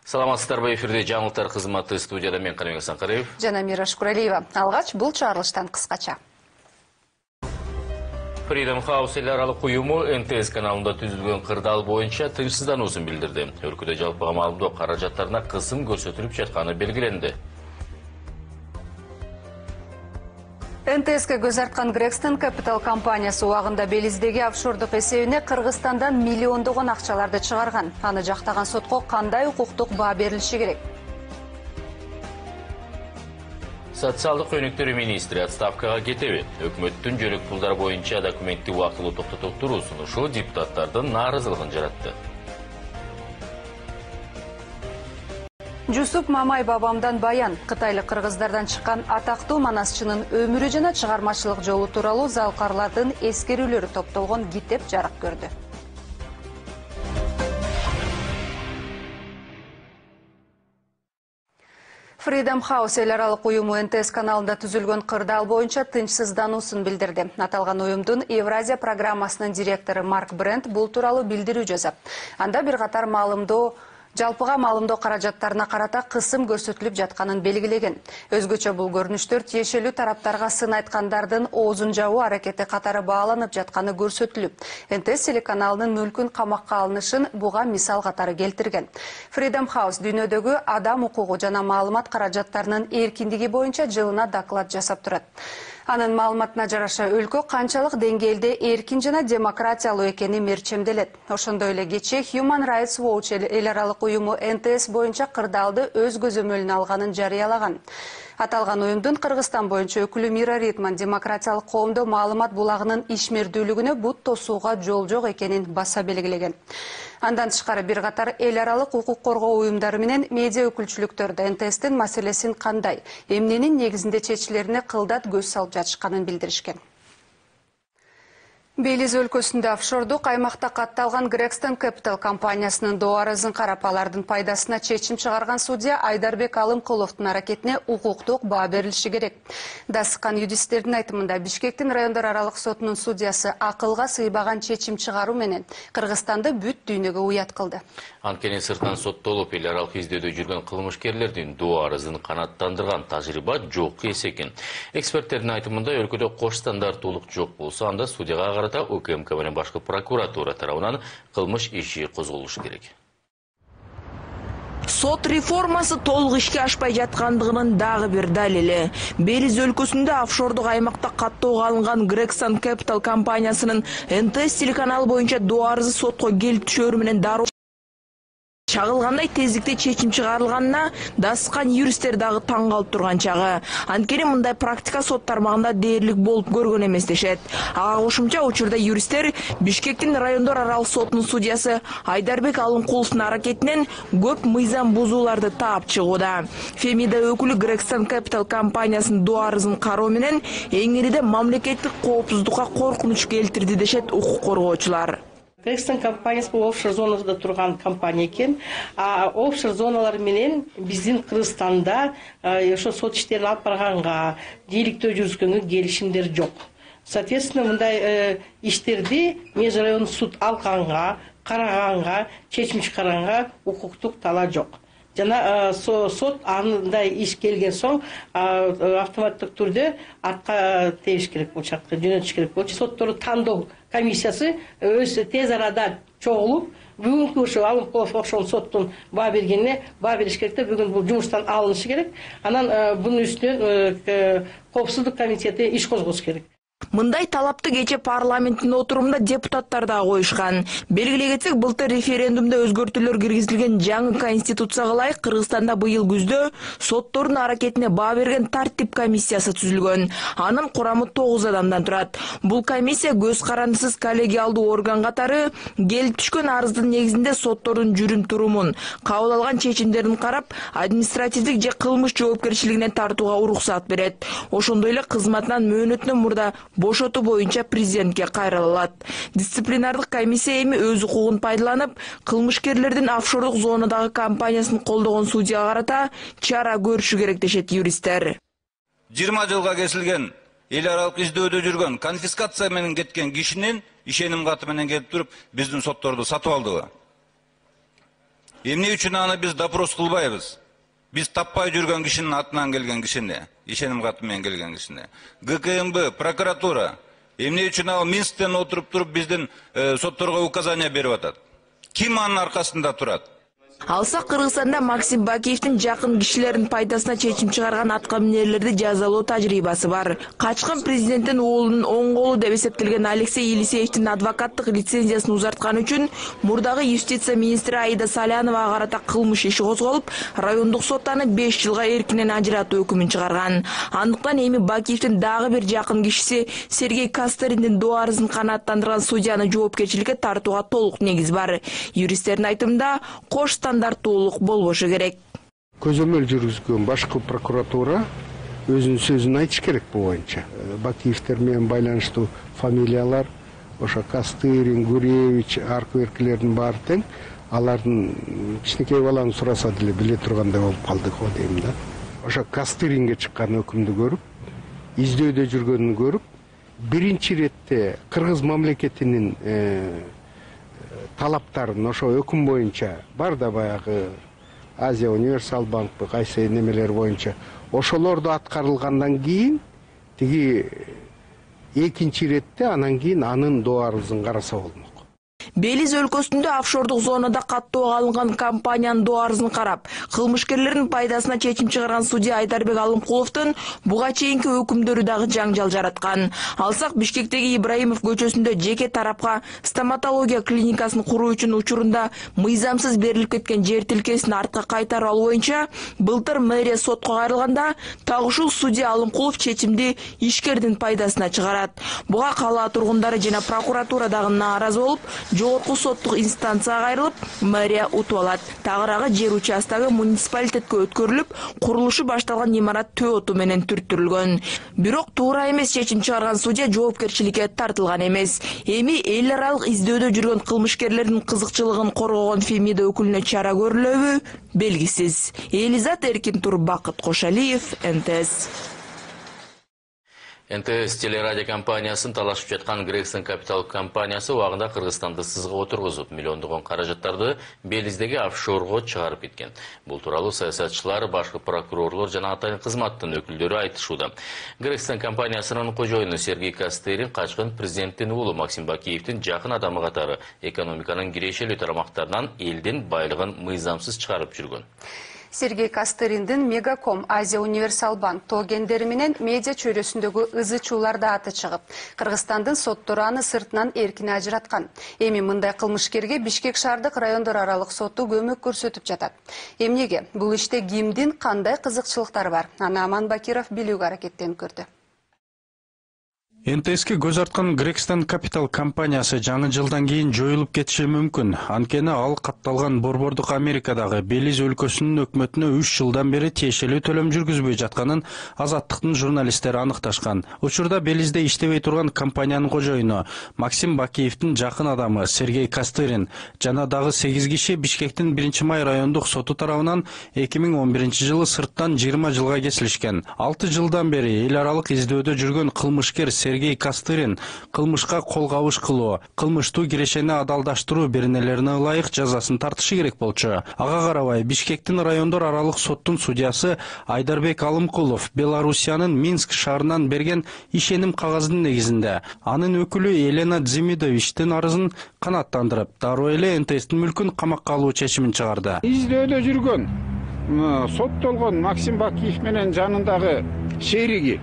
Саламатсыздарбы, эфирде жаңылыктар кызматы, студияда мен Каныбек Асанкариев жана Мира Шукуралиева. Алгач бул чыгарылыштан кыскача. Freedom House эл аралык уюму НТС каналында түзүлгөн кырдаал боюнча тынчсыздануусун билдирди. Өлкөдө жалпыга маалымдоо каражаттарына кысым көрсөтүлүп жатканы белгиленди. НТСке көз арткан Gregson Capital компаниясы убагында Белиздеги офшордук эсебине Кыргызстандан миллиондогон акчаларды чыгарган. Аны жактаган сотко кандай укуктук баа берилиши керек? Социалдык өнүктүрүү министри отставкага кетеби? Өкмөттүн жөлөк пулдар боюнча документти убактылуу токтотуп туруу сунушу депутаттардын нааразылыгын жаратты. Жусуп Мамай бабамдан баян. Кытайлык кыргыздардан чыккан атактуу манасчынын өмүрү жана чыгармачылык жолу тууралуу залкарлардын эскерүүлөрү топтолгон китеп жарык көрдү. Freedom House эл аралык уюму НТС каналында түзүлгөн кырдаал боюнча тынчсыздануусун билдирди. Аталган уюмдун Евразия программасынын директору Марк Брент бул тууралуу билдирүү жасап, анда бир катар жалпыга маалымдоо каражаттарына карата кысым көрсөтүлүп жатканын белгилеген. Өзгөчө бул көрүнүштөр тиешелүү тараптарга сын айткандардын оозун жабуу аракети катары бааланып жатканы көрсөтүлүп, НТС телеканалынын мүлкүн камакка алынышын буга мисал катары келтирген. Freedom House дүйнөдөгү адам укугу жана маалымат каражаттарынын эркиндиги боюнча жылына доклад жасап турат. Анын маалыматына жараша өлкө канчалык деңгээлде эркин жана демократиялуу экени мерчемделет. Ошондой эле кечээ Human Rights Watch эл аралык уюму НТС боюнча кырдаалды өз көзөмөлүнө алганын жарыялаган. Аталган уюмдун Кыргызстан боюнча өкүлү Мира Ритман демократиялык коомдо маалымат булагынын ишмердүүлүгүнө бут тосууга жол жок экенин баса белгилеген. Андан тышкары бир катар эл аралык укук коргоо уюмдары менен медиа өкүлчүлүктөрдө НТСтин маселесин кандай, эмненин негизинде чечилерине кылдат көз салып жатышканын билдиришкен. Белиз өлкөсүндө офшордук аймакта катталган Gregson Capital компаниясынын доо арызын карап, алардын пайдасына чечим чыгарган судья Айдарбек Алымкуловдун аракетине укуктук баа берилиши керек. Дасыккан юристтердин айтымында, Бишкектин райондор аралык сотунун судьясы акылга сыйбаган чечим чыгаруу менен Кыргызстанды бүт дүйнөгө уят кылды. Анткени сыртан соттолуп эл аралык издөөдө жүргөн кылмышкерлердин доо арызын канааттандырган тажрыйба жок эс экен. Эксперттердин айтымында, өлкөдө кош стандарттуулук жок болсо, анда судьяга карата УКМК менен башкы прокуратура тарабынан кылмыш иши козголушу керек. Сот реформасы толук ишке ашпай жаткандыгынын дагы бир далили. Белиз өлкөсүндө офшордук аймакта каттоого алынган Gregson Capital компаниясынын НТС телеканалы боюнча доо арызы сотко келип түшөрү менен дароо чагылгандай тездикте чечим чыгарылганына дасыккан юристтер дагы таң калып турган чагы. Анткени мындай практика сот тармагында дээрлик болуп көргөн эмес дешет. Ага кошумча, учурда юристтер Бишкектин райондор аралык сотунун судьясы Айдарбек Алымкуловдун аракетинен көп мыйзам бузууларды таап чыгууда. Фемида өкүлү Gregson Capital компаниясынын доо арызын кароо менен эңириде мамлекеттик коопсуздукка коркунуч келтирди дешет укук коргоочулар. Gregson компаниясы бул офшор зонада турган компания экен. Офшор зоналар менен биздин Кыргызстанда ошо сот иштерин алып барганга, бийликтөө жүргүзгөнгө келишимдер жок. Соответственно, мындай иштерди межрайондук суд алганга, караганга, чечим чыгарганга укуктук талаа жок. Жана сот андай иш келген соң автоматтык түрдө артка тебиш керек болчу, жөнөтүш керек болчу. Соттордун тандоо комиссиясы өз тез арада чогулуп, бүгүнкү ошо Алымкулов ошол соттун баа бергенине баа бериш керек да, бүгүн бул жумуштан алынышы керек. Анан бунун үстүнөн коопсуздук комитети иш козгосу керек. Мындай талапты кече парламенттин отурумунда депутаттар да коюшкан. Белгилей кетсек, былтыр референдумда өзгөртүүлөр киргизилген жаңы конституцияга ылайык Кыргызстанда быйыл күздө соттордун аракетине баа берген тартип комиссиясы түзүлгөн. Анын курамы 9 адамдан турат. Бул комиссия көз карандысыз коллегиалдуу орган катары келип түшкөн арыздын негизинде соттордун жүрүм турумун, кабыл алган чечимдерин карап, административдик же кылмыш жоопкерчилигине тартууга уруксат берет. Ошондой эле кызматынан мөөнөтүнөн мурда бошотуу боюнча президентке кайрыла алат. Дисциплинардык комиссия эми өз укугун пайдаланып, кылмышкерлердин офшордук зонадагы компаниясын колдогон судьяга карата чара көрүшү керек дешет юристтер. 20 жылга кесилген, эл аралык издөөдө жүргөн, конфискация менен кеткен кишинин ишеним каты менен келип туруп биздин сотторду сатып алдыбы? Эмне үчүн аны биз допрос кылбайбыз? Биз таппай жүргөн кишинин атынан келген кишини, ишеним каты менен келген кишини. ГКМБ, прокуратура эмне үчүн ал Минсктен туруп биздин сотторго указания берип атат? Ким анын аркасында турат? Алсак Кыргызстанда Максим Бакиевдин жакын кишилеринин пайдасына чечим чыгарган аткаминерлерди жазалоо тажрыйбасы бар. Качкын президенттин уулунун оң колу деп эсептелген Алексей Елисеевдин адвокаттык лицензиясын узартканы үчүн мурдагы юстиция министри Аида Саляновага карата кылмыш иши козголуп, райондук сот аны 5 жылга эркинен ажыратуу өкүмүн чыгарган. Андыктан эми Бакиевдин дагы бир жакын кишиси Сергей Кастериндин доо арызын канааттандырган судьяны жоопкерчиликке тартууга толук негиз бар. Юристтердин айтымында кош стандарттуулук болбошу керек. Көзөмөл жүргүзгөн башкы прокуратура өзүнүн сөзүн айтыш керек бул боюнча. Бакиевдер менен байланыштуу фамилиялар, ошо Кастырин, Гуревич, аркы-беркилердин баары тең. Алардын кичинекей баланы сураса деле биле тургандай болуп калдык го дейм да. Ошо Кастыринге чыккан өкүмдү көрүп, издөөдө жүргөнүн көрүп, биринчи четте Кыргыз мамлекетинин талаптарын ошо өкүм боюнча бар да баягы Азия Универсал банкпы кайсы немелер боюнча ошолорду аткарылгандан кийин тиги экинчи иретте анан кийин анын доо арызын караса болмок. Белиз өлкөсүндө офшордук зонада каттоого алынган компаниянын доо арызын карап, кылмышкерлердин пайдасына чечим чыгарган судья Айдарбек Алымкуловдун буга чейинки өкүмдөрү дагы жаңжал жараткан. Алсак Бишкектеги Ибраимов көчөсүндө жеке тарапка стоматология клиникасын куруу үчүн учурунда мыйзамсыз берилип кеткен жер тилкесин артка кайтарып алуу боюнча былтыр мэрия сотко кайрылганда, так ушул судья Алымкулов чечимди ишкердин пайдасына чыгарат. Буга кала тургундары жана прокуратура дагы нааразы болуп, жогорку соттук инстанцияга кайрылып, мэрия утуп алат. Тагыраагы жер участогу муниципалитетке өткөрүлүп, курулушу башталган имарат төө оту менен түрттүрүлгөн. Бирок туура эмес чечим чыгарган судья жоопкерчиликке тартылган эмес. Эми эл аралык издөөдө жүргөн кылмышкерлердин кызыкчылыгын коргогон Фемида өкүлүнө чара көрүлөбү белгисиз. Элизат Эркин Тур, Бакыт Кошалиев, НТС. НТС телерадио компаниясын талашып жаткан Грекстон Капитал компаниясы убагында Кыргызстанды сызга отургузуп, миллиондогон каражаттарды Белиздеги офшорго чыгарып кеткен. Бул тууралуу саясатчылар, башкы прокурорлор жана атайын кызматтын өкүлдөрү айтышууда. Грекстон компаниясынын кожоюну Сергей Кастерин качкын президенттин уулу Максим Бакиевдин жакын адамы катары экономиканын кирешелүү тарамактарынан элдин байлыгын мыйзамсыз чыгарып жүргөн. Сергей Кастериндин Мегаком, Азия Универсал банк тогендери менен медиа чөйрөсүндөгү ызы чууларда аты чыгып, Кыргызстандын соттору аны сыртынан эркин ажыраткан. Эми мындай кылмышкерге Бишкек шаардык райондор аралык соту көмөк көрсөтүп жатат. Эмнеге? Бул иште кимдин кандай кызыкчылыктары бар? Аны Аман Бакиров билүүгө аракеттенип көрдү. НТСке көз арткан Грекстон Капитал компаниясы жаңы жылдан кийин жоюлуп кетиши мүмкүн. Анткени ал катталган борбордук Америкадагы Белиз өлкөсүнүн өкмөтүнө 3 жылдан бери тиешелүү төлөм жүргүзбөй жатканын Азаттыктын журналисттери аныкташкан. Учурда Белизде иштебей турган компаниянын кожоюну Максим Бакиевдин жакын адамы Сергей Кастерин жана дагы 8 киши Бишкектин 1-май райондук соту тарабынан 2011-жылы сырттан 20 жылга кесилишкен. 6 жылдан бери эл аралык издөөдө жүргөн кылмышкер Сергей Кастерин кылмышка кол кабыш кылуу, кылмыштуу кирешени адалдаштыруу беренелерине ылайык жазасын тартышы керек болчу. Ага карабай Бишкектин райондор аралык соттун судьясы Айдарбек Алымкулов Белоруссиянын Минск шаарынан берген ишеним кагазынын негизинде анын өкүлү Елена Дзимидовичтин арызын канааттандырып, дароо эле НТСтин мүлкүн камакка алуу чечимин чыгарды. Издөөдө жүргөн соттолгон Максим Бакиев менен жанындагы шериги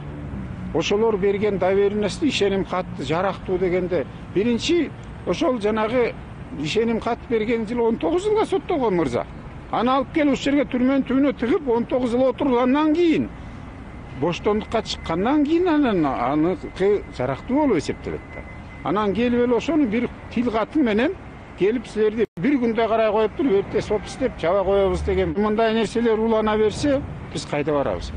ошолор берген доверенности ишеним катты жарактуу дегенде биринчи ошол жанагы ишеним кат берген жылы 19 жылга соттолгон мырза. Аны алып келип ушул жерге түрмөнүн түбүнө тыгып 19 жыл отургандан кийин боштондукка чыккандан кийин аны жарактуу болуп эсептелет да. Анан келип эле ошону бир тил каты менен келип силерди бир күндө карай коюп туруп эртеси опустеп чаба коебуз деген мындай нерселер улана берсе биз кайда барабыз?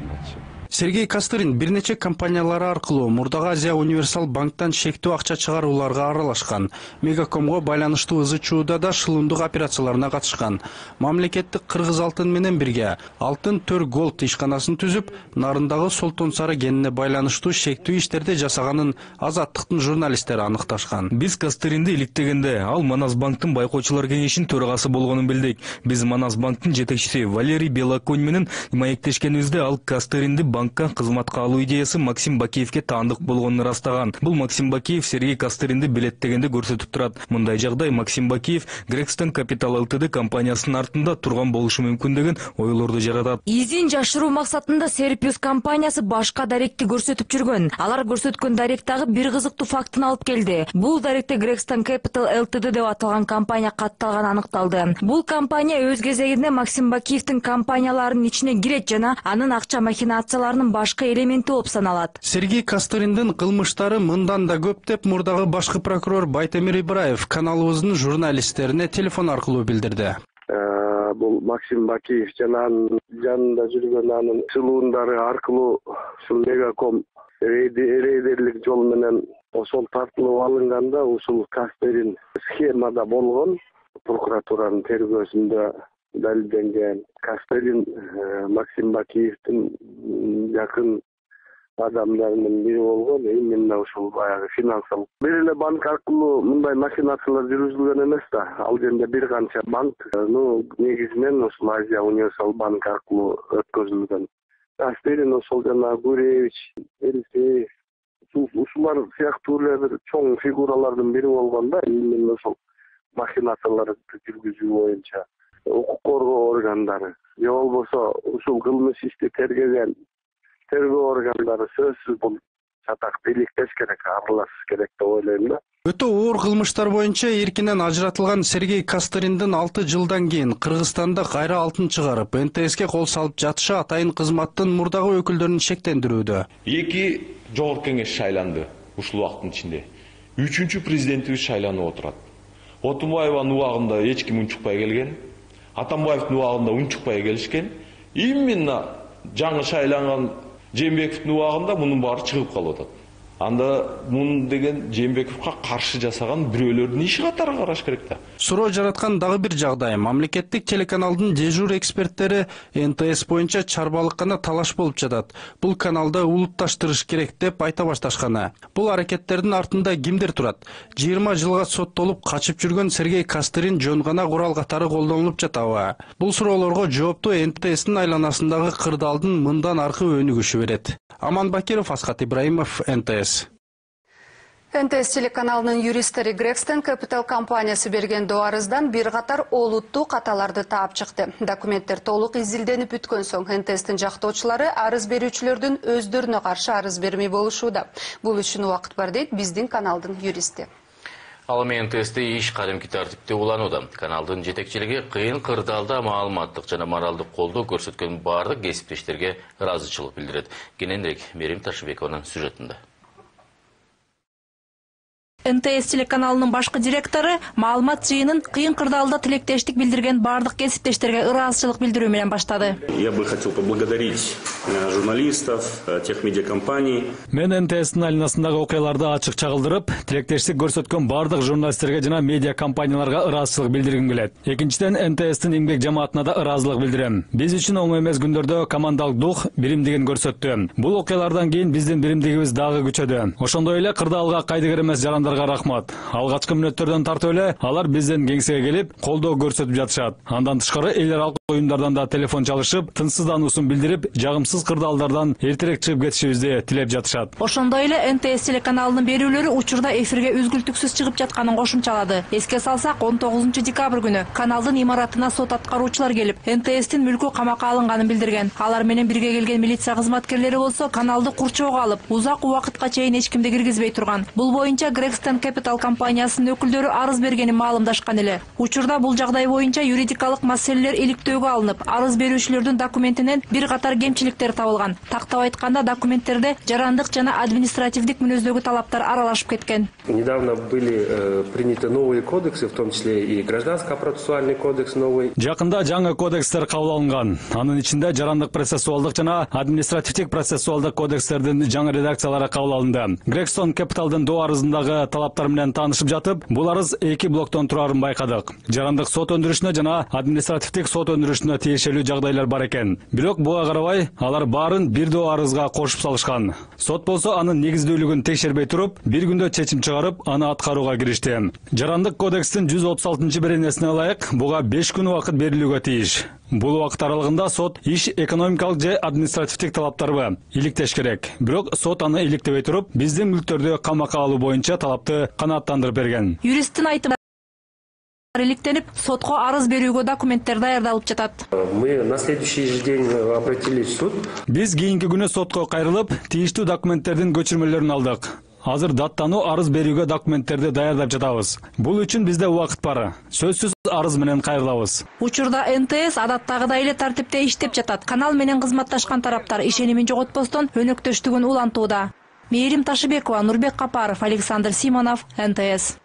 Сергей Костырин бир нече компаниялары аркылуу Мурдагы Азия Универсал банктан шектүү акча чыгарууларга аралашкан. Мегакомго байланыштуу ызы чууда да шылымдык операцияларына катышкан. Мамлекеттик Кыргыз алтын менен бирге Алтын Төр Голд ишканасын түзүп, нарындагы Солтон Сары кенине байланыштуу шектүү иштерди жасаганын Азаттыктын журналисттери аныкташкан. Биз Костыринди иликтегенде ал Манас банктын байкоочулар кеңешинин төрагасы болгонун билдик. Биз Манас банктын жетекчиси Валерий Белоконь менен маектешкенибизде ал Костыринди банкка кызматка алуу идеясы Максим Бакиевке таандык болгонун ырастаган. Бул Максим Бакиев Сергей Костыринди билеттегенде көрсөтүп турат. Мындай жагдай Максим Бакиев Грекстон Capital Ltd компаниясынын артында турган болушу мүмкүн деген ойлорду жаратат. Изин жашыруу максатында Серпиус компаниясы башка даректи көрсөтүп жүргөн. Алар көрсөткөн даректагы бир кызыктуу фактын алып келди. Бул даректе Грекстон Capital Ltd деп аталган компания катталганы аныкталды. Бул компания өз кезегинде Максим Бакиевдин компанияларынын ичине кирет жана анын акча махинацияларынын башкы элементи болуп саналат. Сергей Костыриндин кылмыштары мындан да көп деп Мурдагы башкы прокурор Байтемир Ибраев каналыбыздын журналисттерине телефон аркылуу билдирди. Бул Максим Бакиев жана анын жанында жүргөн анын чылуундары аркылуу ушул Мегаком рейдерлик жол менен ошол тартылып алынганда ушул Костырин схемада болгон, прокуратуранын тергөөсүндө далилденген. Костырин Максим Бакиевдин жакын адамдарынын бири болгон, именно ушул баягы финансалык. Бир эле банк аркылуу мындай махинациялар жүргүзүлгөн эмес да. Ал жерде бир канча банк, негизинен ушул Азия Универсал банк аркылуу өткөзүлгөн. Костырин ошол жана Гуревич, Элисеев, ушулар сыяктуу эле бир чоң фигуралардын бири болгон да, именно ошол махинацияларды жүргүзүү боюнча укук коргоо органдары, же болбосо ушул кылмыш ишти тергеген тергөө органдары сөзсүз бул чатак бийликтеш керек, аралашыш керек деп ойлойм да. Өтө оор кылмыштар боюнча эркинен ажыратылган Сергей Костыриндин 6 жылдан кийин Кыргызстанда кайра алтын чыгарып, НТСке кол салып жатышы атайын кызматтын мурдагы өкүлдөрүн шектендирүүдө. 2 жогорку кеңеш шайланды ушул убакыттын ичинде. 3-чү президентибиз шайланып отурат. Отунбаеванын убагында эч ким унчукпай келген, Атамбаевдин убагында унчукпай келишкен. Именно жаңы шайланган Жээнбековдун убагында мунун баары чыгып калып атат. Анда мун деген Жээнбековго каршы жасаган бирөөлөрдүн иши катары караш керек да. Суроо жараткан дагы бир жагдай. Мамлекеттик телеканалдын дежур эксперттери НТС боюнча чарбалыккана талаш болуп жатат. Бул каналда улутташтырыш керек деп айта башташканы. Бул аракеттердин артында кимдер турат? 20 жылга соттолуп качып жүргөн Сергей Костырин жөн гана курал катары колдонулуп жатабы? Бул суроолорго жоопту НТСтин айланасындагы кырдаалдын мындан аркы өнүгүшү берет. Аман Бакиров, Асхат Ибраимов, НТС. НТС телеканалынын юристтери Грекстон Capital компаниясы берген арыздан бир катар олуттуу каталарды таап чыкты. Документтер толук изилденип бүткөн соң НТСтин жактоочулары арыз берүүчүлөрдүн өздөрүнө каршы арыз бермей болушууда. Бул үчүн убакыт бар дейт биздин каналдын юристи. Ал эми НТСте иш кадимки тартипте уланууда. Каналдын жетекчилиги кыйын кырдаалда маалыматтык жана моралдык колдоо көрсөткөн бардык кесиптештерге ыраазычылык билдирет. Кененирээк Мерим Ташыбекованын сюжетинде. НТС телеканалынын башкы директору маалымат жыйынын кыйын кырдаалда тилектештик билдирген бардык кесиптештерге ыраазычылык билдирүү менен баштады. Я бы хотел поблагодарить журналистов, тех медиакомпаний. Мен НТСтин айланасындагы окуяларды ачык чагылдырып, тилектештик көрсөткөн бардык журналисттерге жана медиа компанияларга ыраазычылык билдиргим келет. Экинчиден, НТСтин эмгек жамаатына да ыраазылык билдирем. Биз үчүн оңой эмес күндөрдө командалык дух, биримдигин көрсөттү. Бул окуялардан кийин биздин биримдигибиз дагы күчөдү. Ошондой эле кырдаалга кайдыгер эмес жарандар рахмат. Алгачкы мүнөттөрдөн тартып эле алар бизден кеңсеге келип, колдоо көрсөтүп жатышат. Андан тышкары эл аралык уюмдардан да телефон чалышып, тынчсыздануусун билдирип, жагымсыз кырдаалдардан эртерээк чыгып кетишибизди тилеп жатышат. Ошондой эле НТС телеканалынын берүүлөрү учурда эфирге үзгүлтүксүз чыгып жатканын кошумчалады. Эске салсак, 19 декабрь күнү каналдын имаратына сот аткаруучулар келип, НТСтин мүлкү камакка алынганын билдирген. Алар менен бирге келген милиция кызматкерлери болсо каналды курчоого алып, узак убакытка чейин эч кимди киргизбей турган. Бул боюнча Грекстон Capital компаниясынын өкүлдөрү арыз бергенин маалымдашкан эле. Учурда бул жагдай боюнча юридикалык маселелер иликтөөгө тескерүүгө алынып, арыз берүүчүлөрдүн документинен бир катар кемчиликтер табылган. Тактап айтканда, документтерде жарандык жана административдик мүнөздөгү талаптар аралашып кеткен. Недавно были приняты новые кодексы, в том числе и гражданский процессуальный кодекс новый. Жакында жаңы кодекстер кабыл алынган. Анын ичинде жарандык процессуалдык жана административдик процессуалдык кодекстердин жаңы редакциялары кабыл алынды. Gregstone Capital'дын до арызындагы талаптар менен таанышып жатып, бул арыз 2 блоктон турарын байкадык. Жарандык сот өндүрүшүнө жана административдик сот өндүрүшүнө тиешелүү жагдайлар бар экен. Бирок буга карабай, алар баарын бир до арызга кошуп салышкан. Сот болсо анын негиздүүлүгүн текшербей туруп, бир күндө чечим чыгарып, аны аткарууга киришти. Жарандык кодекстин 136-беренесине ылайык буга 5 күн убакыт берилүүгө тийиш. Бул убакыт аралыгында сот иш экономикалык же административдик талаптарбы иликтеш керек. Бирок сот аны иликтебей туруп, биздин мүлктөрдү камакка алуу боюнча талапты канааттандырып берген. Юристтин айтымында иликтенип, сотко арыз берүүгө документтер даярдалып жатат. Мы на следующий же день обратились в суд. Биз кийинки күнү сотко кайрылып, тийиштүү документтердин көчүрмөлөрүн алдык. Азыр даттануу арыз берүүгө документтерди даярдап жатабыз. Бул үчүн бизде убакыт бар. Сөзсүз арыз менен кайрылабыз. Учурда НТС адаттагыдай эле тартипте иштеп жатат. Канал менен кызматташкан тараптар ишенимин жоготпостон өнөктөштүгүн улантууда. Мээрим Ташыбекова, Нурбек Капаров, Александр Симонов, НТС.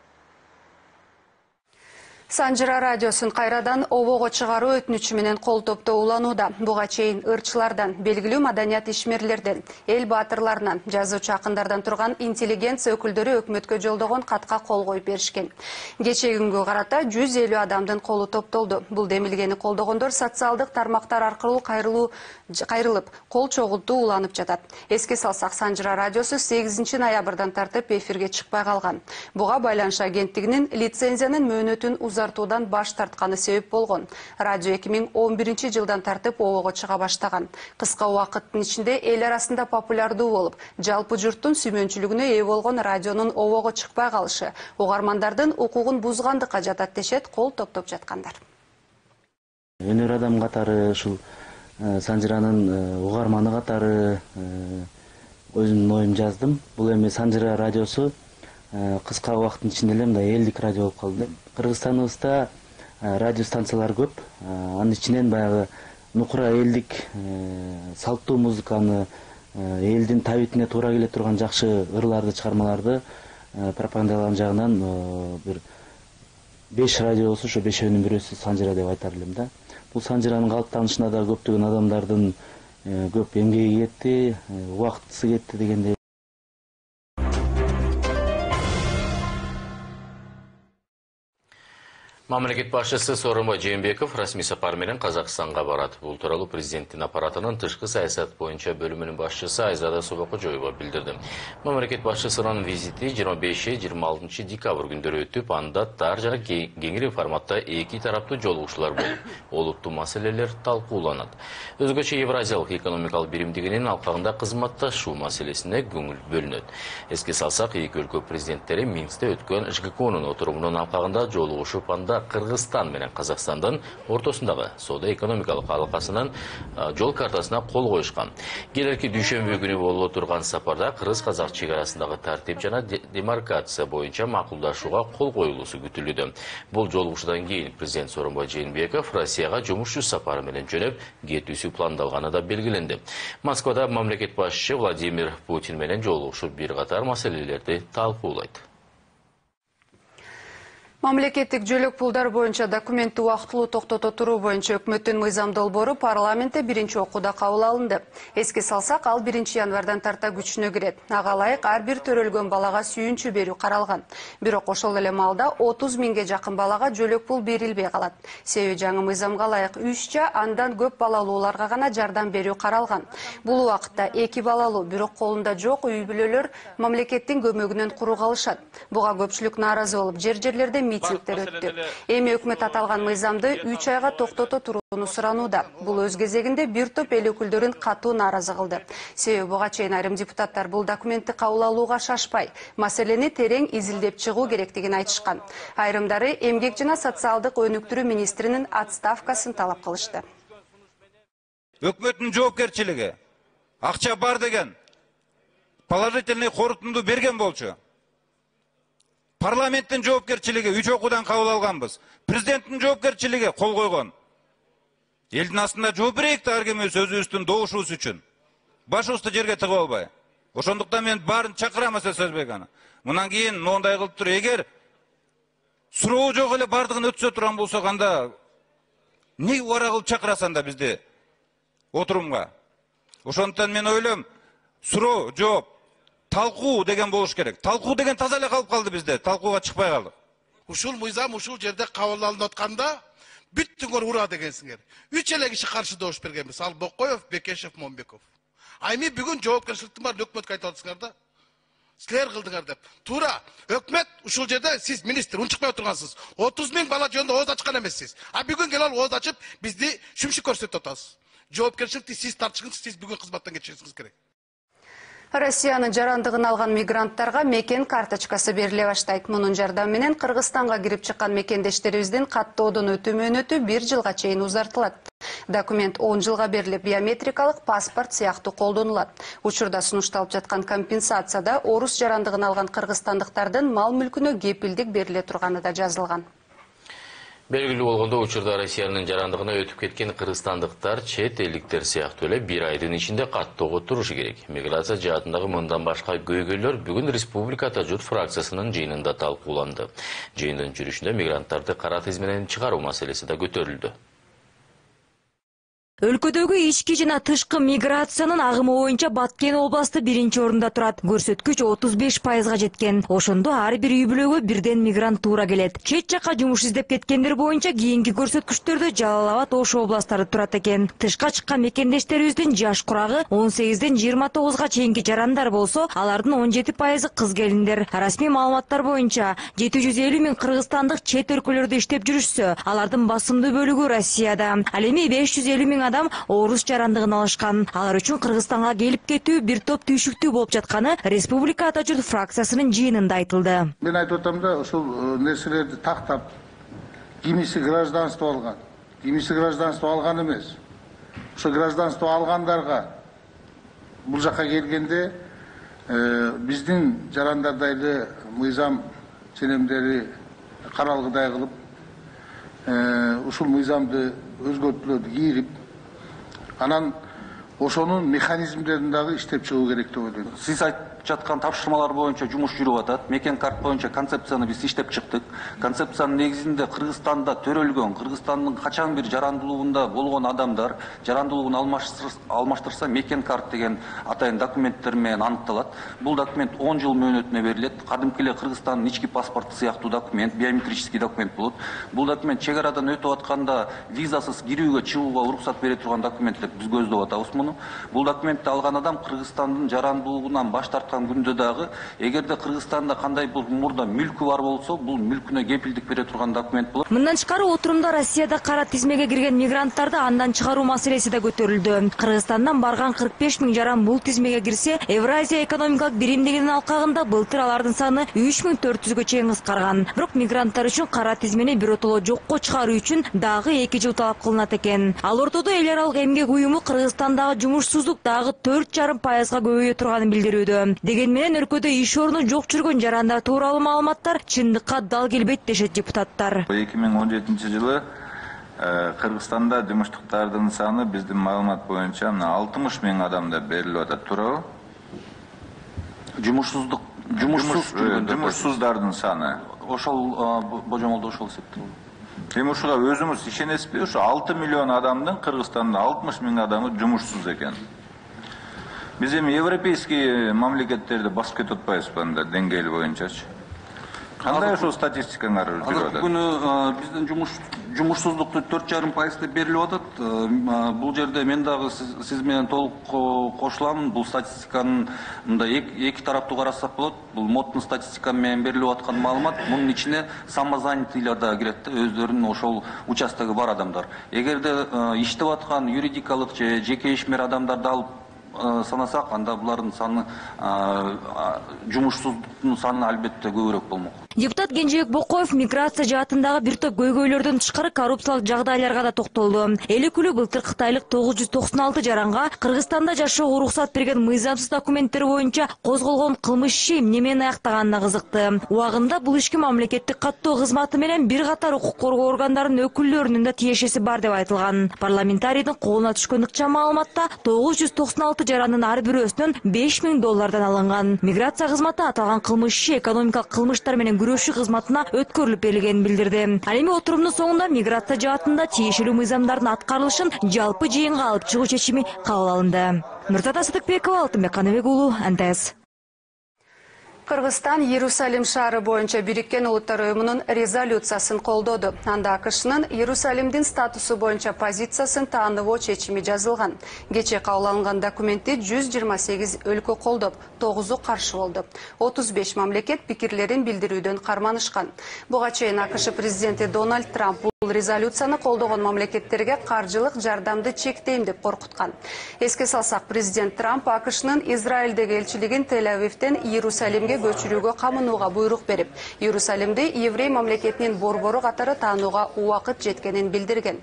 Санжыра радиосун кайрадан обого чыгаруу өтүнүчү менен кол топтоо уланууда. Буга чейин ырчылардан, белгилүү маданият ишмерлерден, эл баатырларынан, жазуучу акындардан турган интеллигенция өкүлдөрү өкмөткө жолдогон катка кол коюп беришкен. Кечеги күнгө карата 150 адамдын колу топтолду. Бул демилгени колдогондор социалдык тармактар аркылуу кайрылып, кол чогултуу уланып жатат. Эске салсак, Санжыра радиосу 8 ноябрдан тартып эфирге чыкпай калган. Буга байланыш агенттигинин лицензиянын мөөнөтүн узартуудан баш тартканы себеп болгон. Радио 2011-жылдан тартып обого чыга баштаган. Кыска убакыттын ичинде эл арасында популярдуу болуп, жалпы журттун сүймөнчүлүгүнө ээ болгон радионун обого чыкпай калышы угармандардын укугун бузгандыкка жатат дешет кол топтоп жаткандар. Өнөр адам катары ушул Санжыранын угарманы катары өзүмдүн оюм жаздым. Бул эми Санжыра радиосу кыска убакыттын ичинде эле мындай элдик радио болуп калды. Кыргызстаныбызда радио станциялар көп. Анын ичинен баягы нукура элдик салттуу музыканы, элдин табитине туура келе турган жакшы ырларды, чыгармаларды пропагандалаган жагынан бир 5 радио болсо, ошо 5-өөнүн бирөөсү Санжыра деп айтар элем да. Бул Санжыранын калыптанышына да көптөгөн адамдардын көп эмгеги кетти, убактысы кетти дегендей. Мамлекет башчысы Сооронбай Жээнбеков расмий сапар менен Казакстанга барат. Бул тууралуу президенттин аппаратынын тышкы саясат боюнча бөлүмүнүн башчысы Айзада Собокожоева билдирди. Мамлекет башчысынын визити 25-26 декабрь күндөрү өтүп, анда тар жана кеңири форматта 2 тараптуу жолугушуулар болуп, олуттуу маселелер талкууланат. Өзгөчө Евразиялык экономикалык биримдигинин алкагында кызматташуу маселесине көңүл бөлүнөт. Эске салсак, эки өлкө президенттери Минскте өткөн ШГКОнун отурумунун алкагында жолугушуп, анда Кыргызстан менен Казакстандын ортосундагы соода-экономикалык алакасынын жол картасына кол коюшкан. Келерки дүйшөмбү күнү боло турган сапарда кыргыз-казак чек арасындагы тартип жана демаркация боюнча макулдашууга кол коюлуусу күтүлүүдө. Бул жолугушуудан кийин президент Сооронбай Жээнбеков Россияга жумуш сапары менен жөнөп кетүүсү пландалганы да белгиленди. Москвада мамлекет башчысы Владимир Путин менен жолугушуп бир катар маселелерди талкуулайт. Мамлекеттик жөлөк пулдар боюнча документти убактылуу токтото туруу боюнча өкмөттүн мыйзам долбоору парламентте биринчи окууда кабыл алынды. Эске салсак, ал 1 январдан тарта күчүнө кирет. Ага ылайык ар бир төрөлгөн балага сүйүнчү берүү каралган. Бирок ошол эле маалда 30 миңге жакын балага жөлөк пул берилбей калат. Себеби жаңы мыйзамга ылайык 3 андан көп балалууларга гана жардам берүү каралган. Бул убакытта 2 балалуу, бирок колунда жок үй бүлөлөр мамлекеттин көмөгүнөн куру калышат. Буга көпчүлүк нааразы болуп, жер-жерлерде митингдер өттү. Эми өкмөт аталган мыйзамды 3 айга токтото турууну суранууда. Бул өз кезегинде бир топ эл өкүлдөрүн катуу нааразы кылды. Себеби буга чейин айрым депутаттар бул документти кабыл алууга шашпай, маселени терең изилдеп чыгуу керектигин айтышкан. Айрымдары эмгек жана социалдык өнүктүрүү министринин отставкасын талап кылышты. Өкмөттүн жоопкерчилиги акча бар деген положительный корутунду берген болчу. Парламенттин жоопкерчилиги 3 окуудан кабыл алганбыз. Президенттин жоопкерчилиги кол койгон. Элдин астында жооп берейик да ар кимибиз өзүбүздүн добушубуз үчүн. Башыбызды жерге тыгып албай. Ошондуктан мен баарын чакырам Асель Сазбек аны. Мындан кийин моундай кылып туруп, эгер суроо жок эле бардыгын өткөзө турган болсок, анда эмнеге убара кылып чакырасың да бизди отурумга? Ошондуктан мен ойлойм, суроо, жооп, талкуу деген болуш керек. Талкуу деген таза эле калып калды бизде. Талкууга чыкпай калдык. Ушул мыйзам ушул жерде кабыл алынып атканда бүттүңөр ура дегенсиңер. 3 эле киши каршы добуш бергенбиз. Ал Бокоев, Бекешев, Момбеков. А эми бүгүн жоопкерчиликтин баарын өкмөткө айтып атасыңар да. Силер кылдыңар деп. Туура, өкмөт ушул жерде сиз министр унчукпай отургансыз. 30 000 бала жөнүндө ооз ачкан эмессиз. А бүгүн келип ооз ачып бизди шүмшүк көрсөтүп атасыз. Жоопкерчиликти сиз тартышыңыз, сиз бүгүн кызматтан кетишиңиз керек. Россиянын жарандыгын алган мигранттарга мекен карточкасы бериле баштайт. Мунун жардамы менен Кыргызстанга кирип чыккан мекендештерибиздин каттоодон өтүү мөөнөтү 1 жылга чейин узартылат. Документ 10 жылга берилип, биометрикалык паспорт сыяктуу колдонулат. Учурда сунушталып жаткан компенсацияда орус жарандыгын алган кыргызстандыктардын мал мүлкүнө кепилдик бериле турганы да жазылган. Белгилүү болгондо учурда Россиянын жарандыгына өтүп кеткен кыргызстандыктар чет элдиктер сыяктуу эле 1 айдын ичинде каттоого турушу керек. Миграция жаатындагы мындан башка көйгөйлөр бүгүн Республикада журт фракциясынын жыйынында талкууланды. Жыйындын жүрүшүндө мигранттарды кара тизмеден чыгаруу маселеси да көтөрүлдү. Өлкөдөгү ички жана тышкы миграциянын агымы боюнча Баткен областы 1-орунда турат. Көрсөткүч 35%га жеткен. Ошондо ар бир үй бүлөгө birden мигрант туура келет. Чет жакка жумуш издеп кеткендер боюнча кийинки көрсөткүчтөрдө Жалал Абад, Ош областары турат экен. Тышка чыккан мекендештерибиздин жаш курагы 18-ден 29га чейинки жарандар болсо, алардын 17% кыз келиндер. Расмий маалыматтар боюнча 750 000 кыргызстандык чет өлкөлөрдө иштеп жүрүшсө, алардын басымдуу бөлүгү Россияда. Ал эми 550 000 адам орус жарандыгын алышкан. Алар үчүн Кыргызстанга келип кетүү бир топ түйшүктүү болуп жатканы Республика Атажурт фракциясынын жыйынында айтылды. Мен айтып атам да, ушул нерселерди тактап, кимиси гражданство алган, кимиси гражданство алган эмес. Ошо гражданство алгандарга бул жакка келгенде биздин жарандардай эле мыйзам ченемдери каралгыдай кылып, ушул мыйзамды өзгөртүүлөрдү кийирип, анан ошонун механизмдерин дагы иштеп чыгуу керек деп ойлойм. Сиз айтып жаткан тапшырмалар боюнча жумуш жүрүп атат. Мекен карт боюнча концепцияны биз иштеп чыктык. Концепциянын негизинде Кыргызстанда төрөлгөн, Кыргызстандын качан бир жарандылыгында болгон адамдар жарандылыгын алмаштырса мекен карт деген атайын документтер менен аныкталат. Бул документ 10 жыл мөөнөтүнө берилет. Кадимки эле Кыргызстандын ички паспорту сыяктуу документ, биометрический документ болот. Бул документ чек арадан өтүп атканда визасыз кирүүгө, чыгууга уруксат бере турган документ деп биз көздөп атабыз муну. Бул документти алган адам Кыргызстандын жарандылыгынан баш тарткан күндө дагы, эгерде Кыргызстанда кандай бул мурда мүлкү бар болсо, бул мүлкүнө кепилдик бере турган документ болот. Мындан тышкары отурумда Россияда кара тизмеге кирген мигранттарды андан чыгаруу маселеси да көтөрүлдү. Кыргызстандан барган 45 000 жаран бул тизмеге кирсе, Евразия экономикалык биримдигинин алкагында былтыр алардын саны 3400гө чейин кыскарган. Бирок мигранттар үчүн кара тизмени биротоло жокко чыгаруу үчүн дагы 2 жыл талап кылынат экен. Ал ортодо эл аралык эмгек уюму Кыргызстандагы жумушсуздук дагы 4,5%га көбөйө турганын билдирүүдө. Деген менен өлкөдө иш орну жок жүргөн жарандар тууралуу маалыматтар чындыкка дал келбейт дешет депутаттар. 2017 жылы Кыргызстанда жумуштуктардын саны биздин маалымат боюнча 60 000 адамда берилип атат, туурабы? Жумушсуздардын саны. Ошол божомолдо ошол эсептелет. Эми ушуга өзүңүз ишенесизби? Ушу 6 миллион адамдын Кыргызстанда 60 000 адамы жумушсуз экен. Биз эми европейский мамлекеттерди басып кетип атпайбызбы анда деңгээли боюнчачы? Кандай ошол статистикаңар жүрүп атат? Бүгүн биздин жумушсуздукту 4,5% деп берилип атат. Бул жерде мен дагы сиз менен толук кошулам. Бул статистиканын мындай эки тараптуу карасак болот. Бул МОТтун статистика менен берилип аткан маалымат, мунун ичине самозанятыйлар да кирет да, өздөрүнүн ошол участогу бар адамдар. Эгерде иштеп аткан юридикалык же жеке ишмер адамдарды алып санасак, анда булардын саны, жумушсуздуктун саны албетте көбүрөөк болмок. Депутат Кенжебек Бокоев миграция жаатындагы бир топ көйгөйлөрдөн тышкары коррупциялык жагдайларга да токтолду. Эл өкүлү былтыр Кытайлык 996 жаранга Кыргызстанда жашоого уруксат берген мыйзамсыз документтер боюнча козголгон кылмыш иши эмне менен аяктаганына кызыкты. Убагында бул ишке мамлекеттик каттоо кызматы менен бир катар укук коргоо органдарынын өкүлдөрүнүн да тиешеси бар деп айтылган. Парламентарийдин колуна түшкөн ыкчам маалыматта 996 жарандын ар бирөөсүнөн $5000 алынган. Миграция кызматы аталган кылмыш иши экономикалык кылмыштар менен күрөшүү кызматына өткөрүлүп берилгенин билдирди. Ал эми отурумдун соңунда миграция жаатында тиешелүү мыйзамдардын аткарылышын жалпы жыйынга алып чыгуу чечими кабыл алынды. Нуртата Сыдыкбекова, Алтынбек Каныбек уулу, НТС. Кыргызстан Иерусалим шаары боюнча Бириккен Улуттар уюмунун резолюциясын колдоду. Анда АКШнын Иерусалимдин статусу боюнча позициясын тааныбоо чечими жазылган. Кечээ кабыл алынган документти 128 өлкө колдоп, 9-у каршы болду. 35 мамлекет пикирлерин билдирүүдөн карманышкан. Буга чейин АКШ президенти Дональд Трамп бул резолюцияны колдогон мамлекеттерге каржылык жардамды чектейм деп коркуткан. Эске салсак, президент Трамп АКШнын Израилдеги элчилигин Тель-Авивден Иерусалимге көчүрүүгө камынууга буйрук берип, Иерусалимди еврей мамлекетинин борбору катары таанууга убакыт жеткенин билдирген.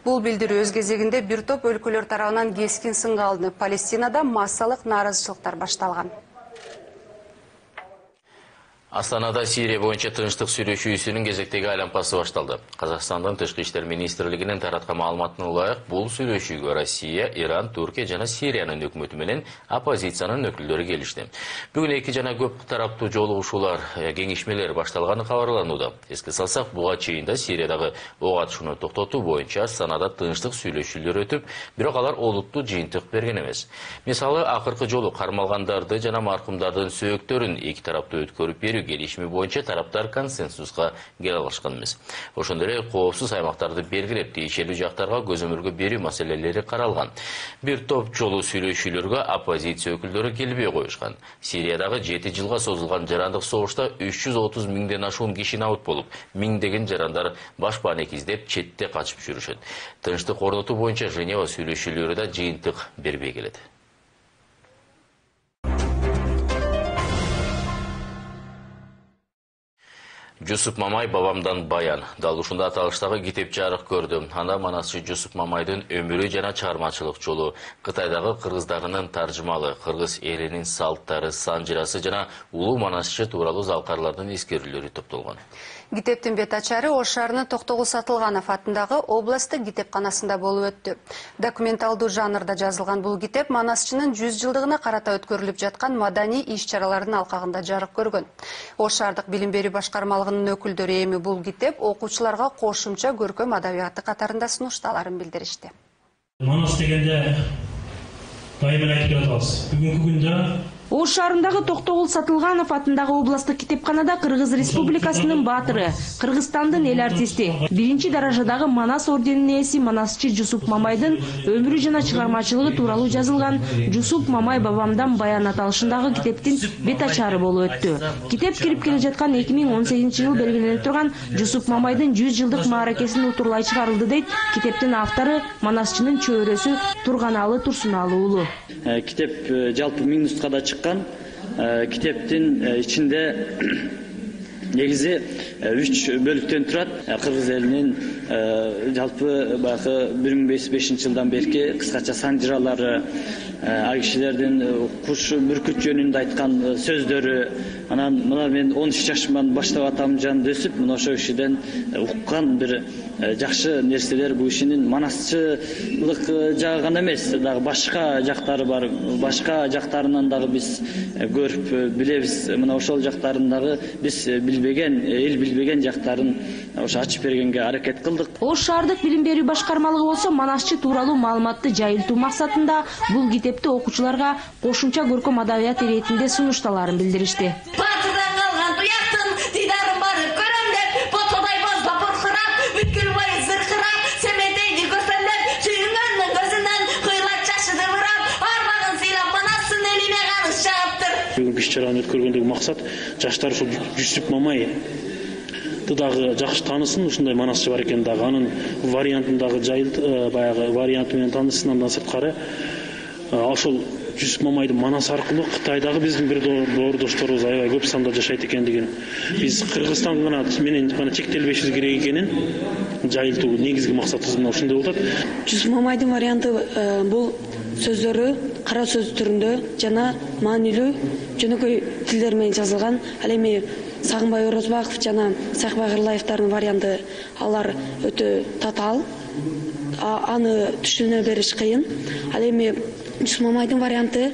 Бул билдирүү өз кезегинде бир топ өлкөлөр тарабынан кескин сынга алынып, Палестинада массалык нааразычылыктар башталган. Астанада Сирия боюнча тынчтык сүйлөшүүсүнүн кезектеги айланпасы башталды. Казакстандын Тышкы иштер министрлигинин тараткан маалыматына ылайык, бул сүйлөшүүгө Россия, Иран, Түркия жана Сириянын өкмөтү менен оппозициянын өкүлдөрү келишти. Бүгүн эки жана көп тараптуу жолугушуулар, кеңешмелер башталганы кабарланууда. Эске салсак, буга чейин да Сириядагы ок атышууну токтотуу боюнча Астанада тынчтык сүйлөшүүлөр өтүп, бирок алар олуттуу жыйынтык берген эмес. Мисалы, акыркы жолу кармалгандарды жана маркумдардын сөөктөрүн эки тараптуу өткөрүп берүү келишими боюнча тараптар консенсуска келе алышкан эмес. Ошондой эле коопсуз аймактарды белгилеп, тиешелүү жактарга көзөмөлгө берүү маселелери каралган. Бир топ жолу сүйлөшүүлөргө оппозиция өкүлдөрү келбей коюшкан. Сириядагы 7 жылга созулган жарандык согушта 330 миңден ашуун киши набыт болуп, миңдеген жарандар башпаанек издеп четте качып жүрүшөт. Тынчтык орнотуу боюнча Женева сүйлөшүүлөрү да жыйынтык бербей келет. Жусуп Мамай бабамдан баян. Дал ушунда аталыштагы китеп жарык көрдү. Анда манасчы Жусуп Мамайдын өмүрү жана чыгармачылык жолу, Кытайдагы кыргыздарынын таржымалы, кыргыз элинин салттары, санжырасы жана улуу манасчы тууралуу залкарлардын эскерүүлөрү топтолгон. Китептин бет ачары Ош шаарынын Токтогул Сатылганов атындагы областтык китепканасында болуп өттү. Документалдуу жанрда жазылган бул китеп манасчынын 100 жылдыгына карата өткөрүлүп жаткан маданий иш-чаралардын алкагында жарык көргөн. Ош шаардык билим берүү башкармалыгынын өкүлдөрү эми бул китеп окуучуларга кошумча көркөм адабияты катарында сунуштааларын билдиришти. Манас дегенде дайыма айтып жатабыз. Бүгүнкү күндө Ош шаарындагы Токтогул Сатылганов атындагы областтык китепканада Кыргыз Республикасынын баатыры, Кыргызстандын эл артисти, биринчи даражадагы Манас орденинин ээси манасчы Жусуп Мамайдын өмүрү жана чыгармачылыгы тууралуу жазылган Жусуп Мамай бабамдан баян аталышындагы китептин бет ачары болуп өттү. Китеп кирип келе жаткан 2018-жыл белгиленип турган Жусуп Мамайдын 100 жылдык мааракесин утурлай чыгарылды дейт китептин автору манасчынын чөйрөсү Турганалы Турсуналы уулу. Китеп жалпы 1000 нускада китептин ичинде негизи 3 бөлүктөн турат. Кыргыз элинин жалпы баягы 1500 жылдан берки кыскача санжыралары, ал кишилердин куш бүркүт жөнүндө айткан сөздөрү, анан мына мен 13 жашымдан баштап атамжан өсүп, мына ошол кишиден уккан бир жакшы нерселер бул кишинин манасчылык жагы гана эмес, дагы башка жактары бар. Башка жактарынан дагы биз көрүп билебиз. Мына ошол жактарын дагы биз билбеген, эл билбеген жактарын ошо ачып бергенге аракет кылдык. Ош шаардык билим берүү башкармалыгы болсо манасчы тууралуу маалыматты жайылтуу максатында бул китепти окуучуларга кошумча көркөм адабият иретинде сунуштааларын билдиришти. Батырдан калган туяктын дидарын барып көрөм деп, ботодай бозбап буркурап, бүткүл бою зыркырап, семетейди көсөмдөп, сүйүнгөндүн көзүнөн кыйлат жашы дыбырап, арбагын сыйлап манасын элине каныш жаптыр. Бүгүнкү иш-чараны өткөргөндөгү максат жаштар ушул Жусуп Мамай дагы жакшы таанысын, ушундай манасчы бар экен дагы анын вариантын дагы баягы варианты менен таанышсын. Андан сырткары ошол Жусуп Мамайдын Манас аркылуу Кытайдагы биздин бир доордошторубуз аябай көп санда жашайт экендигин, биз Кыргызстан менен гана чектелбешибиз керек экенин жайылтуу негизги максатыбыз мына ушундай болуп атат. Жусуп Мамайдын варианты бул сөздөрү кара сөз түрүндө жана маанилүү жөнөкөй тилдер менен жазылган. Ал эми Сагынбай Орозбаков жана Сайкбай Кырлаевдардын варианты алар өтө татаал. Аны түшүнө бериш кыйын. Ал эми Жусуп Мамайдын варианты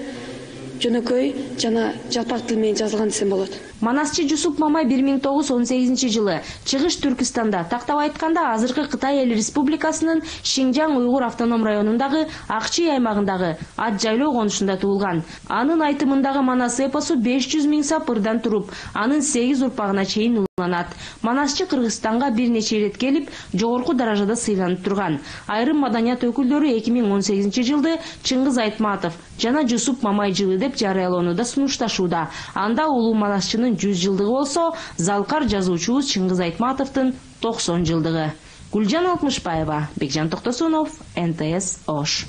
жөнөкөй жана жалпак тил менен жазылган десем болот. Манасчы Жусуп Мамай 1918 жылы Чыгыш Түркистанда, тактап айтканда азыркы Кытай Эл Республикасынын Шинжаң уйгур автоном районундагы Акчи аймагындагы Ат жайлоо конушунда туулган. Анын айтымындагы Манас эпосу 500 миң сапырдан туруп, анын 8 урпагына чейин уланат. Манасчы Кыргызстанга бир нече ирет келип, жогорку даражада сыйланып турган. Айрым маданият өкүлдөрү 2018 жылды Чыңгыз Айтматов жана Жусуп Мамай жылы деп жарыялоонуда сунушташууда. Анда улуу Манасчынын 100 жылдыгы болсо, залкар жазуучубуз Чыңгыз Айтматовдун 90 жылдыгы. Гүлжан Алтмышбаева, Бекжан Токтосунов, НТС Ош.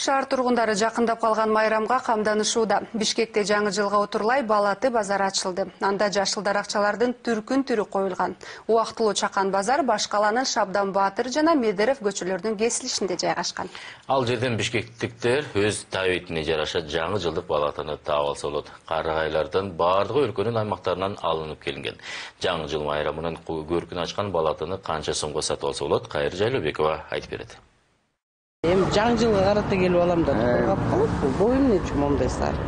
Шаар тургундары жакындап калган майрамга камданышууда. Бишкекте жаңы жылга отурлай Балаты базары ачылды. Анда жашыл даракчалардын түркүн түрү коюлган. Убактылуу Чакан базар Башкаланын Шабдан Баатыр жана Медерев көчөлөрүнүн кесилишинде жайгашкан. Ал жерден бишкектиктер өз табитине жараша жаңы жылдык балатаны таап алса болот. Карагайлардын баардыгы өлкөнүн аймактарынан алынып келинген. Жаңы жыл майрамынын көркүн ачкан балатаны канча сомго сатып алса болот? Кайыр Жайлообекова айтып берет. Эми жаңы жылга карата келип алам да тургап калып, бул эмне чумамдай сары.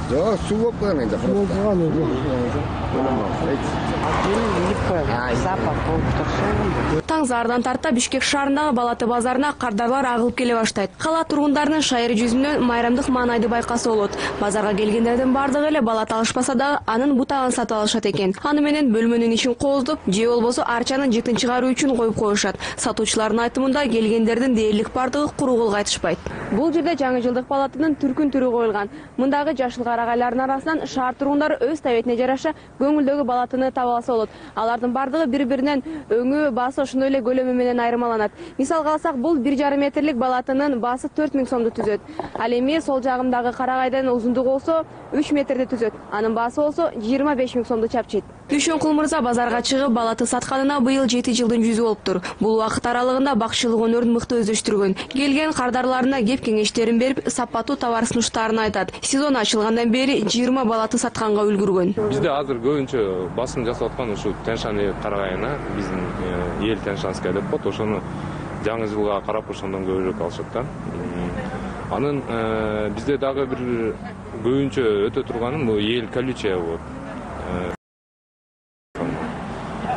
Жок, суу болуп калган энди. Таң зардан тарта Бишкек шаарындагы Балаты базарына кардарлар агылып келе баштайт. Кала тургундарынын шайыр жүзүнөн майрамдык маанайды байкаса болот. Базарга келгендердин бардыгы эле балат алышпаса дагы анын бутагын сатып алышат экен. Аны менен бөлмөнүн ишин кооздоп, же болбосо арчанын жытын чыгаруу үчүн коюп коюшат. Сатуучулардын айтымында келгендердин дээрлик бардыгы куру кол кайтышпайт. Бул жерде жаңы жылдык балатынын түркүн түрү коюлган. Мындагы жашыл карагайлардын арасынан шаар тургундары өз табетине жараша көңүлдөгү балатыны таба алса болот. Алардын бардыгы бири-биринен өңү, баасы ошондой эле көлөмү менен айырмаланат. Мисалга алсак, бул 1,5 метрлик балатынын баасы 4000 сомду түзөт. Ал эми сол жагымдагы карагайдын узундугу болсо 3 метрди түзөт. Анын баасы болсо 25 000 сомду чапчыйт. Дүшөнкул мырза базарга чыгып балаты сатканына быйыл 7 жылдын жүзү болуптур. Бул убакыт аралыгында бакчылык өнөрүн мыкты өздөштүргөн. Келген кардарларына кеп кеңештерин берип, сапаттуу товар сунуштарын айтат. Сезон ачылгандан бери 20 балаты сатканга үлгүргөн. Бизде азыр көбүнчө басым жасап аткан ушу Тянь-Шань карагайына, биздин эл Тянь-Шаньская деп коет, ошону жаңы жылга карап ошондон көбүрөөк алышат да. Анын бизде дагы бир көбүнчө өтө турганы бул эл колючая болот.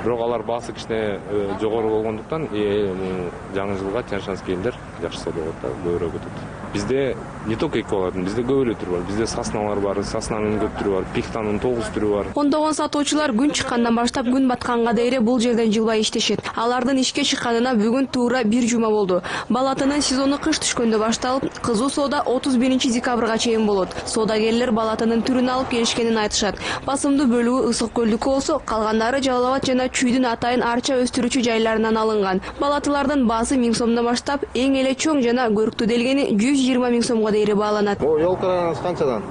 Бирок алар баасы кичине жогору болгондуктан жаңы жылга Тянь-Шаньский элдер жакшы сатып алат да, көбүрөөк өтөт. Бизде не только эки балатын, бизде көп эле түр бар. Бизде сосналар бар, соснанын көп түрү бар, пихтанын 9 түрү бар. Ондогон сатуучулар күн чыккандан баштап күн батканга дейре бул жерден жылбай иштешет. Алардын ишке чыкканына бүгүн туура 1 жума болду. Балатынын сезону кыш түшкөндө башталып, кызуу соода 31 декабрга чейин болот. Соодагерлер балатынын түрүн алып келишкенин айтышат. Басымдуу бөлүгү Ысык көлдүкү болсо, калгандары Жалал Абад жана Чүйдүн атайын арча өстүрүүчү жайларынан алынган. Балатылардын баасы 1000 сомдон баштап, эң эле чоң жана көрктүү делгени 120 000 сомго дейре бааланат. Бул ёлкаларыңыз канчадан?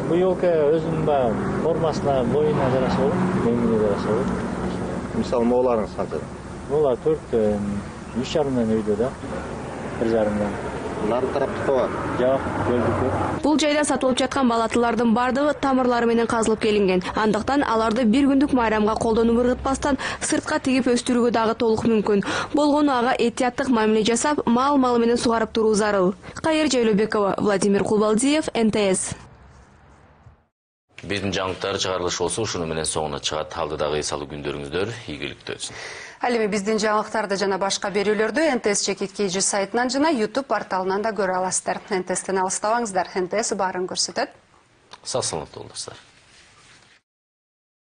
Бул ёлка өзүнүн формасына, боюна жараша болот, реңине жараша болот. Мисалы, мооларыңыз канчадан? Моолар 3,5 үйдө да. 1,5. Нары тараптыкы бар? Жок, көлдүкү. Бул жайда сатылып жаткан балатылардын бардыгы тамырлары менен казылып келинген. Андыктан аларды бир күндүк майрамга колдонуп ыргытпастан сыртка тигип өстүрүүгө дагы толук мүмкүн. Болгону ага этияттык мамиле жасап, мал менен сугарып туруу зарыл. Кайыр Жайлообекова, Владимир Кулбалдиев, НТС. Биздин жаңылыктар чыгарылышы болсо ушуну менен соңуна чыгат. Алдыдагы эсалуу күндөрүңүздөр ийгиликтүү өтсүн. Ал эми биздин жаңылыктарды жана башка берүүлөрдү НТС Чекиткейжи сайтынан жана YouTube порталынан да көрө аласыздар. НТСтен алыстабаңыздар. НТС баарын көрсөтөт. Сак саламаттуу болуңуздар.